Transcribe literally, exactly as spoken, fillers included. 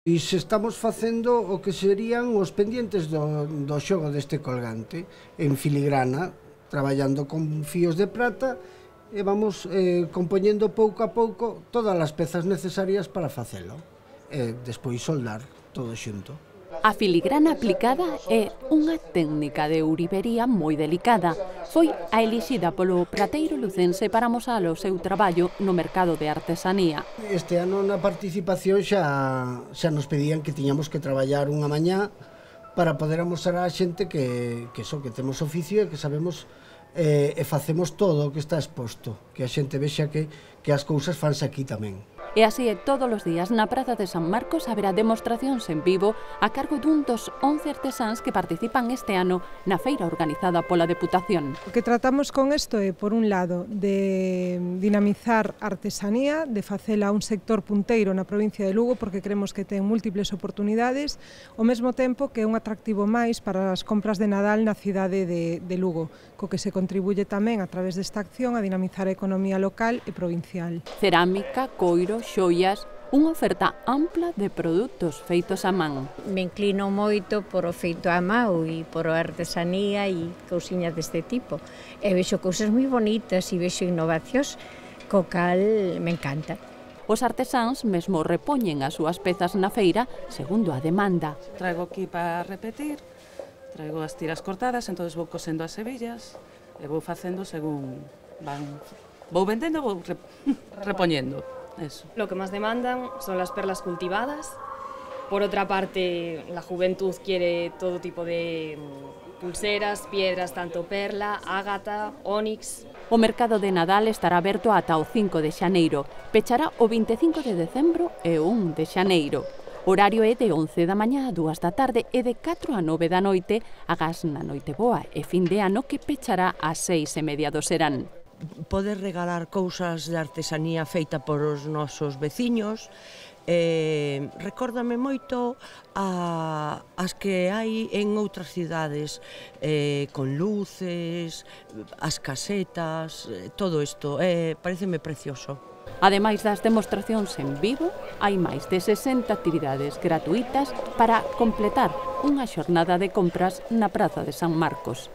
E se estamos facendo o que serían os pendientes do, do xogo deste colgante en filigrana, traballando con fíos de prata e vamos eh, compoñendo pouco a pouco todas as pezas necesarias para facelo e despois soldar todo xunto. A filigrana aplicada é unha técnica de ourivería moi delicada. Foi a elixida polo prateiro lucense para amosar o seu traballo no mercado de artesanía. Este ano na participación xa, xa nos pedían que tiñamos que traballar unha mañá para poder amosar á xente que, que, so, que temos oficio e que sabemos eh, e facemos todo o que está exposto, que a xente vexa que, que as cousas fanse aquí tamén. E así é todos os días na Praza de San Marcos haberá demostracións en vivo a cargo dun dos once artesáns que participan este ano na feira organizada pola Deputación. O que tratamos con isto é, por un lado, de dinamizar a artesanía, de facela un sector punteiro na provincia de Lugo, porque creemos que ten múltiples oportunidades, ao mesmo tempo que é un atractivo máis para as compras de Nadal na cidade de, de Lugo, co que se contribuye tamén a través desta acción a dinamizar a economía local e provincial. Cerámica, coiro, xoias, unha oferta ampla de produtos feitos a man. Me inclino moito por o feito a mão e por a artesanía e cousiñas deste tipo. E vexo cousas moi bonitas e vexo innovacións, co cal me encanta. Os artesáns mesmo repoñen as súas pezas na feira segundo a demanda. Traigo aquí para repetir, traigo as tiras cortadas, entonces vou cosendo as hebillas e vou facendo según van... Vou vendendo, vou repoñendo. Eso. Lo que más demandan son las perlas cultivadas. Por otra parte, la juventud quiere todo tipo de pulseras, piedras, tanto perla, ágata, ónix. O mercado de Nadal estará aberto ata o cinco de xaneiro, pechará o vinte e cinco de decembro e o un de xaneiro. O horario é de once da mañá a dúas da tarde e de catro a nove da noite, agás na noite boa e fin de ano que pechará ás seis e media do serán. Poder regalar cousas de artesanía feita por os nosos veciños. Eh, recórdame moito a, as que hai en outras cidades, eh, con luces, as casetas, eh, todo isto, eh, pareceme precioso. Ademais das demostracións en vivo, hai máis de sesenta actividades gratuitas para completar unha xornada de compras na Praza de San Marcos.